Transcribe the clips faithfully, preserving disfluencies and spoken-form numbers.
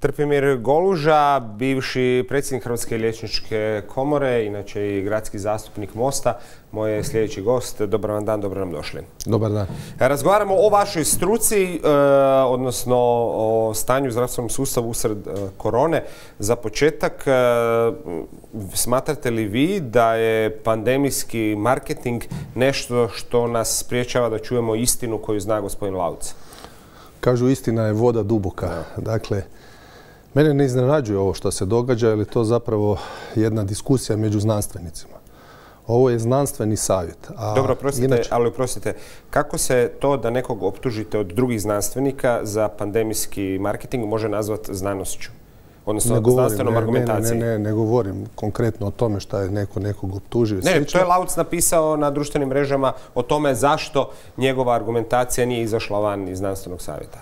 Trpimir Goluža, bivši predsjednik Hrvatske liječničke komore, inače i gradski zastupnik Mosta, moj je sljedeći gost. Dobar vam dan, dobro nam došli. Dobar dan. Razgovaramo o vašoj struci, odnosno o stanju u zdravstvenom sustavu usred korone. Za početak, smatrate li vi da je pandemijski marketing nešto što nas spriječava da čujemo istinu koju zna gospodin Lauc? Kažu, istina je voda duboka. Dakle, mene ne iznenađuje ovo što se događa, jer je to zapravo jedna diskusija među znanstvenicima. Ovo je znanstveni savjet. A Dobro, oprostite, inače... ali oprostite, kako se to da nekog optužite od drugih znanstvenika za pandemijski marketing može nazvati znanošću? Odnosno ne govorim, znanstvenom ne, argumentacijom? Ne, ne, ne, ne govorim konkretno o tome šta je neko nekog optužio. Ne, to je Lauc napisao na društvenim mrežama o tome zašto njegova argumentacija nije izašla van iz znanstvenog savjeta.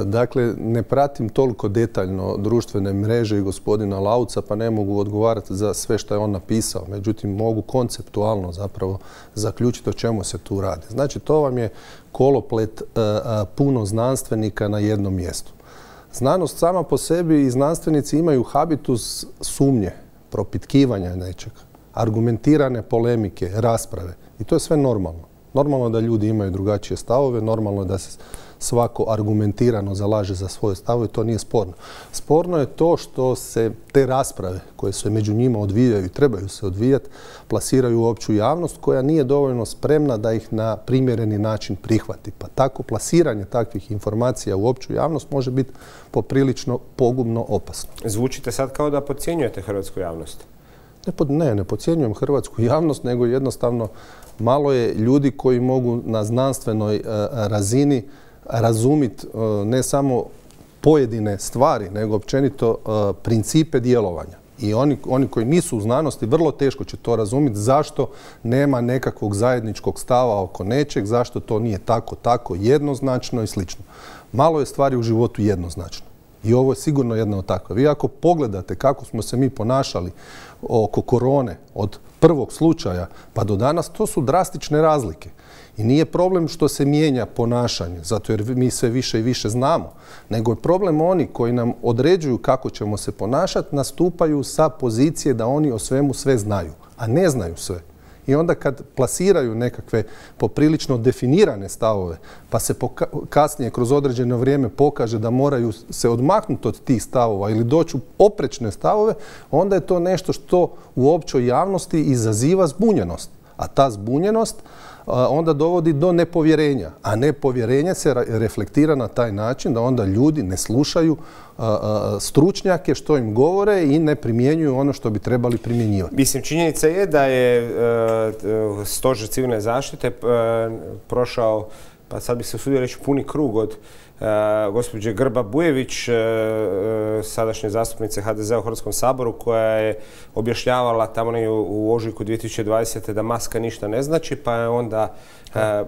Dakle, ne pratim toliko detaljno društvene mreže i gospodina Lauca, pa ne mogu odgovarati za sve što je on napisao. Međutim, mogu konceptualno zapravo zaključiti o čemu se tu radi. Znači, to vam je koloplet puno znanstvenika na jednom mjestu. Znanost sama po sebi i znanstvenici imaju habitus sumnje, propitkivanja nečega, argumentirane polemike, rasprave. I to je sve normalno. Normalno je da ljudi imaju drugačije stavove, normalno je da se svako argumentirano zalaže za svoje stavove, to nije sporno. Sporno je to što se te rasprave koje se među njima odvijaju i trebaju se odvijati, plasiraju u opću javnost koja nije dovoljno spremna da ih na primjereni način prihvati. Pa tako plasiranje takvih informacija u opću javnost može biti poprilično pogubno opasno. Zvučite sad kao da podcjenjujete hrvatsku javnost. Ne, pod, ne, ne podcjenjujem hrvatsku javnost, nego jednostavno malo je ljudi koji mogu na znanstvenoj uh, razini razumjeti uh, ne samo pojedine stvari, nego općenito uh, principe djelovanja. I oni, oni koji nisu u znanosti vrlo teško će to razumjeti zašto nema nekakvog zajedničkog stava oko nečeg, zašto to nije tako, tako jednoznačno i slično. Malo je stvari u životu jednoznačno. I ovo je sigurno jedna od takva. Vi ako pogledate kako smo se mi ponašali oko korone od prvog slučaja pa do danas, to su drastične razlike. I nije problem što se mijenja ponašanje, zato jer mi sve više i više znamo, nego je problem oni koji nam određuju kako ćemo se ponašati, nastupaju sa pozicije da oni o svemu sve znaju, a ne znaju sve. I onda kad plasiraju nekakve poprilično definirane stavove, pa se kasnije kroz određeno vrijeme pokaže da moraju se odmaknuti od tih stavova ili doći u oprečne stavove, onda je to nešto što u općoj javnosti izaziva zbunjenost. A ta zbunjenost onda dovodi do nepovjerenja. A nepovjerenje se reflektira na taj način da onda ljudi ne slušaju stručnjake što im govore i ne primjenjuju ono što bi trebali primjenjivati. Mislim, činjenica je da je Stožer civilne zaštite prošao, pa sad bi se usudio reći, puni krug od gospođe Grba Bujević, sadašnje zastupnice ha de zea u Hrvatskom saboru, koja je objašnjavala tamo u ožujku dvije tisuće dvadesete. da maska ništa ne znači, pa je onda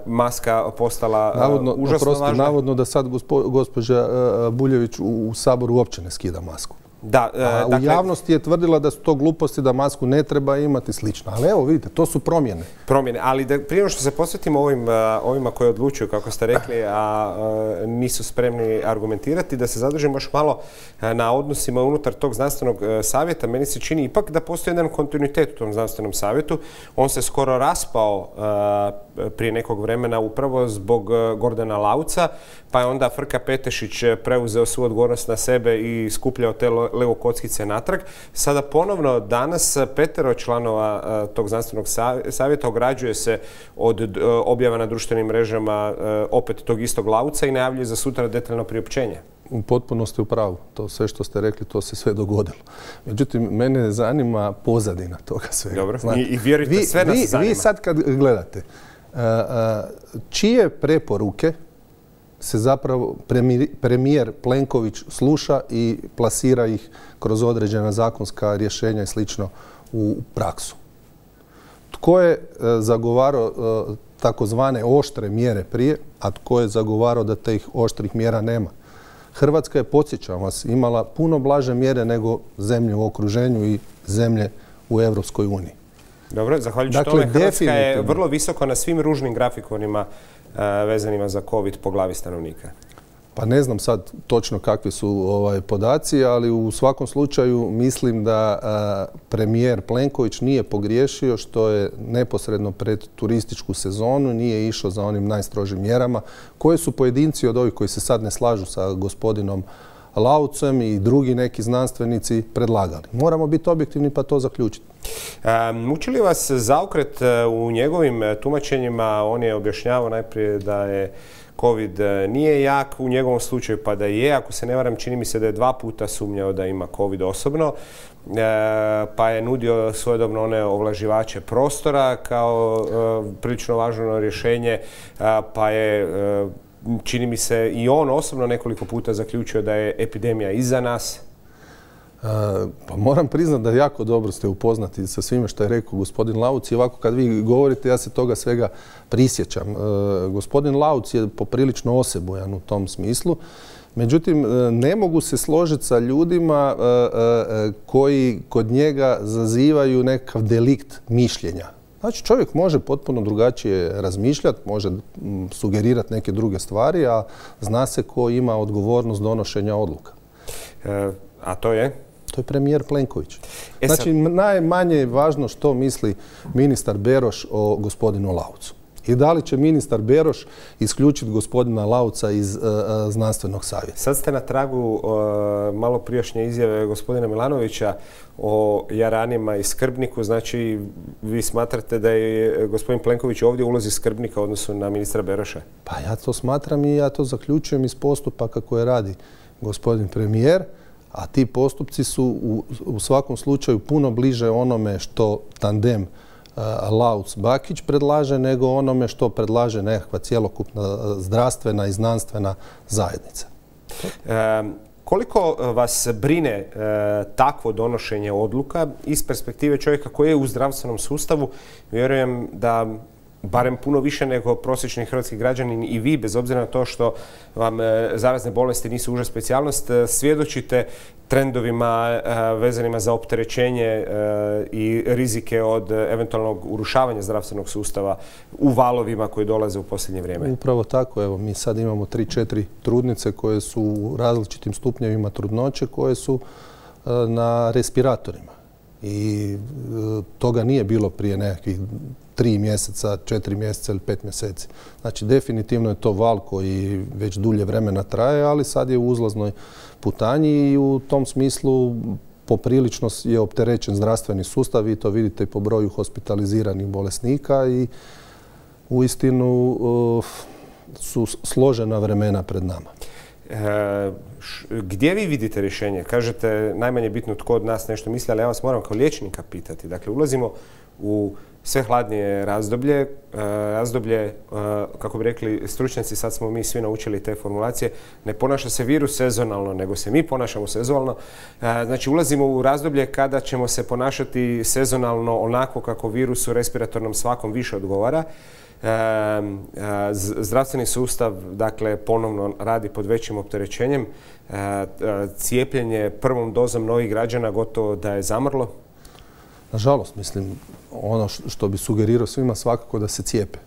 maska postala navodno, užasno oprosti, važna. Navodno da sad gospo, gospođa Buljević u, u saboru uopće ne skida masku. Da, A dakle, u javnosti je tvrdila da su to gluposti, da masku ne treba imati slično. Ali evo, vidite, to su promjene. Promjene, ali da, prije što se posvetimo ovim, ovima koji odlučuju, kako ste rekli, a, a nisu spremni argumentirati, da se zadržimo još malo na odnosima unutar tog znanstvenog savjeta. Meni se čini ipak da postoji jedan kontinuitet u tom znanstvenom savjetu. On se skoro raspao a, prije nekog vremena upravo zbog Gordana Lauca, pa je onda Frka Petešić preuzeo svu odgovornost na sebe i skupljao te Lego kockice natrag. Sada ponovno danas petero članova tog znanstvenog savjeta ograđuje se od objava na društvenim mrežama opet tog istog Lauca i najavljuje za sutra detaljno priopćenje. U potpunosti u pravu. To sve što ste rekli, to se sve dogodilo. Međutim, mene zanima pozadina toga svega. Dobro, Znate, i, i vjerujte, vi, sve nas vi, zanima. Vi sad kad gledate, čije preporuke se zapravo premijer Plenković sluša i plasira ih kroz određena zakonska rješenja i slično u praksu. Tko je zagovarao takozvane oštre mjere prije, a tko je zagovarao da tih oštrih mjera nema? Hrvatska je, podsjećam vas, imala puno blaže mjere nego zemlje u okruženju i zemlje u Europskoj uniji. Dobro, zahvaljujući dakle, tome Hrvatska je vrlo visoko na svim ružnim grafikonima uh, vezanima za COVID po glavi stanovnika. Pa ne znam sad točno kakvi su ovaj, podaci, ali u svakom slučaju mislim da a, premijer Plenković nije pogriješio što je neposredno pred turističku sezonu nije išao za onim najstrožim mjerama koje su pojedinci od ovih koji se sad ne slažu sa gospodinom Laucem i drugi neki znanstvenici predlagali. Moramo biti objektivni pa to zaključiti. E, muči li vas zaokret u njegovim tumačenjima? On je objašnjavao najprije da je COVID nije jak u njegovom slučaju, pa da je. Ako se ne varam, čini mi se da je dva puta sumnjao da ima COVID osobno, e, pa je nudio svojedobno one ovlaživače prostora kao e, prilično važno rješenje, e, pa je e, čini mi se i on osobno nekoliko puta zaključio da je epidemija iza nas. Uh, pa moram priznati da jako dobro ste upoznati sa svime što je rekao gospodin Lauc i ovako kad vi govorite ja se toga svega prisjećam. Uh, gospodin Lauc je poprilično osebujan u tom smislu. Međutim, ne mogu se složiti sa ljudima uh, uh, koji kod njega zazivaju nekakav delikt mišljenja. Znači čovjek može potpuno drugačije razmišljati, može sugerirati neke druge stvari, a zna se ko ima odgovornost donošenja odluka. E, a to je? To je premijer Plenković. E sad... Znači najmanje je važno što misli ministar Beroš o gospodinu Laucu. I da li će ministar Beroš isključiti gospodina Lauca iz uh, znanstvenog savjeta? Sad ste na tragu uh, malo prijašnje izjave gospodina Milanovića o jaranima i skrbniku. Znači, vi smatrate da je gospodin Plenković ovdje u ulozi skrbnika u odnosu na ministra Beroša? Pa ja to smatram i ja to zaključujem iz postupaka koje radi gospodin premijer, a ti postupci su u, u svakom slučaju puno bliže onome što tandem Lauc-Bakić predlaže nego onome što predlaže nekakva cjelokupna zdravstvena i znanstvena zajednica. E, koliko vas brine e, takvo donošenje odluka iz perspektive čovjeka koji je u zdravstvenom sustavu? Vjerujem da barem puno više nego prosječni hrvatski građanin i vi, bez obzira na to što vam e, zarazne bolesti nisu uža specijalnost, e, svjedočite trendovima e, vezanima za opterećenje e, i rizike od eventualnog urušavanja zdravstvenog sustava u valovima koji dolaze u posljednje vrijeme. Upravo tako. Evo, mi sad imamo tri, četiri trudnice koje su u različitim stupnjevima trudnoće, koje su e, na respiratorima. I e, toga nije bilo prije nekakvih tri mjeseca, četiri mjeseca ili pet mjeseci. Znači, definitivno je to val koji već dulje vremena traje, ali sad je u uzlaznoj putanji i u tom smislu poprilično je opterećen zdravstveni sustav. Vi to vidite i po broju hospitaliziranih bolesnika i uistinu uh, su složena vremena pred nama. E, š, gdje vi vidite rješenje? Kažete, najmanje bitno tko od nas nešto misli, ali ja vas moram kao liječnika pitati. Dakle, ulazimo u sve hladnije razdoblje, razdoblje, kako bi rekli stručnjaci, sad smo mi svi naučili te formulacije, ne ponaša se virus sezonalno, nego se mi ponašamo sezonalno. Znači, ulazimo u razdoblje kada ćemo se ponašati sezonalno onako kako virusu respiratornom svakom više odgovara. Zdravstveni sustav, dakle, ponovno radi pod većim opterećenjem. Cijepljenje prvom dozom novih građana gotovo da je zamrlo. Nažalost, mislim, ono što bi sugerirao svima svakako da se cijepe.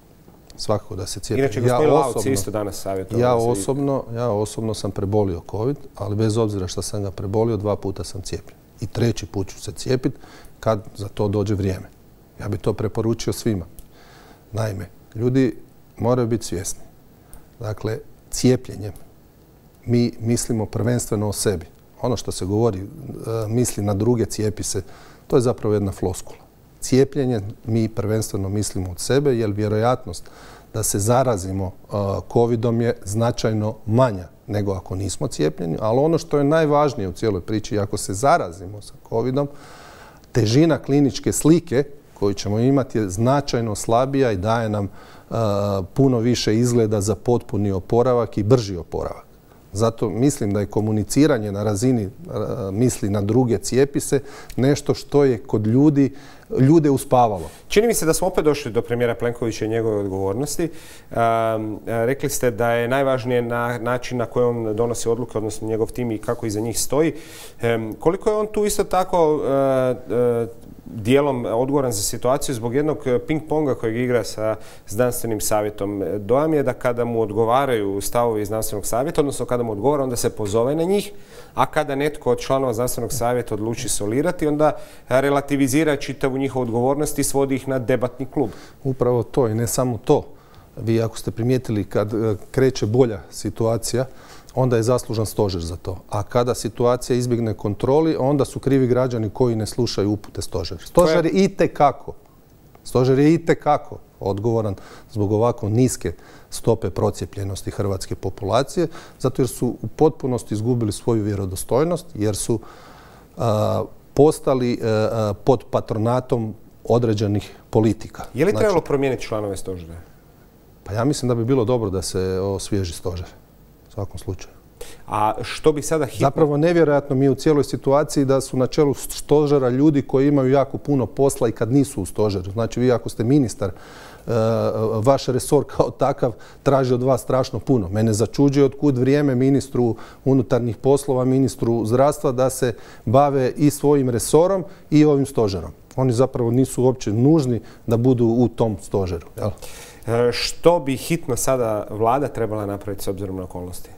Svakako da se cijepe. Inače, gospodin ja Lauc isto danas savjetovao. Ja osobno, ja osobno sam prebolio COVID, ali bez obzira što sam ga prebolio, dva puta sam cijepljen. I treći put ću se cijepiti kad za to dođe vrijeme. Ja bih to preporučio svima. Naime, ljudi moraju biti svjesni. Dakle, cijepljenjem mi mislimo prvenstveno o sebi. Ono što se govori, misli na druge, cijepi se, to je zapravo jedna floskula. Cijepljenje mi prvenstveno mislimo od sebe, jer vjerojatnost da se zarazimo covidom je značajno manja nego ako nismo cijepljeni, ali ono što je najvažnije u cijeloj priči, ako se zarazimo sa covidom, težina kliničke slike koju ćemo imati je značajno slabija i daje nam puno više izgleda za potpuni oporavak i brži oporavak. Zato mislim da je komuniciranje na razini misli na druge, cijepi se, nešto što je kod ljudi ljude uspavalo. Čini mi se da smo opet došli do premijera Plenkovića i njegove odgovornosti. Um, rekli ste da je najvažnije na način na koji on donosi odluke, odnosno njegov tim i kako iza njih stoji. Um, koliko je on tu isto tako uh, uh, dijelom odgovoran za situaciju zbog jednog ping-ponga kojeg igra sa znanstvenim savjetom? Dojam je da kada mu odgovaraju stavovi znanstvenog savjeta, odnosno kada mu odgovara, onda se pozove na njih, a kada netko od članova znanstvenog savjeta odluči solirati, onda relativizira čitavu njihovu odgovornost i svodi ih na debatni klub. Upravo to i ne samo to. Vi ako ste primijetili kad kreće bolja situacija, onda je zaslužan stožer za to. A kada situacija izbjegne kontroli, onda su krivi građani koji ne slušaju upute stožera. Stožer je itekako, stožer je itekako odgovoran zbog ovako niske stope procijepljenosti hrvatske populacije, zato jer su u potpunosti izgubili svoju vjerodostojnost, jer su a, postali a, pod patronatom određenih politika. Je li trebalo znači, promijeniti članove stožera? Pa ja mislim da bi bilo dobro da se osvježi stožer. U svakom slučaju. A što bi sada hitno... Zapravo nevjerojatno mi u cijeloj situaciji da su na čelu stožera ljudi koji imaju jako puno posla i kad nisu u stožeru. Znači vi ako ste ministar, vaš resor kao takav traži od vas strašno puno. Mene začuđuje otkud vrijeme ministru unutarnjih poslova, ministru zdravstva da se bave i svojim resorom i ovim stožerom. Oni zapravo nisu uopće nužni da budu u tom stožeru. Jel? Što bi hitno sada vlada trebala napraviti s obzirom na okolnosti?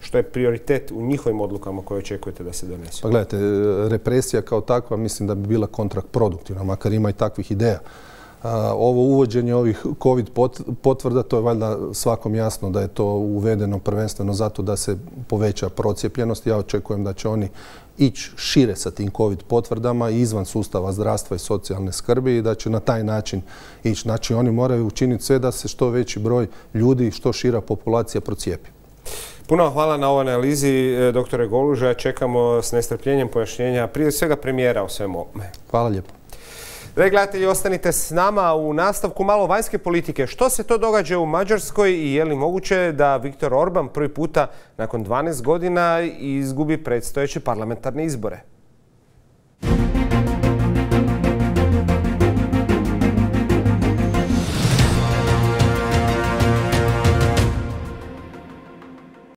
Što je prioritet u njihovim odlukama koje očekujete da se donesu? Pa gledajte, represija kao takva mislim da bi bila kontraproduktivna, makar ima i takvih ideja. Ovo uvođenje ovih COVID potvrda, to je valjda svakom jasno da je to uvedeno prvenstveno zato da se poveća procijepljenost. Ja očekujem da će oni ići šire sa tim COVID potvrdama i izvan sustava zdravstva i socijalne skrbi i da će na taj način ići. Znači oni moraju učiniti sve da se što veći broj ljudi, što šira populacija procijepi. Puno hvala na ovoj analizi, doktore Goluža. Čekamo s nestrpljenjem pojašnjenja prije svega premijera o svemu ovome. Hvala lijepo. Dragi gledatelji, ostanite s nama u nastavku malo vanjske politike. Što se to događa u Mađarskoj i je li moguće da Viktor Orban prvi puta nakon dvanaest godina izgubi predstojeće parlamentarne izbore?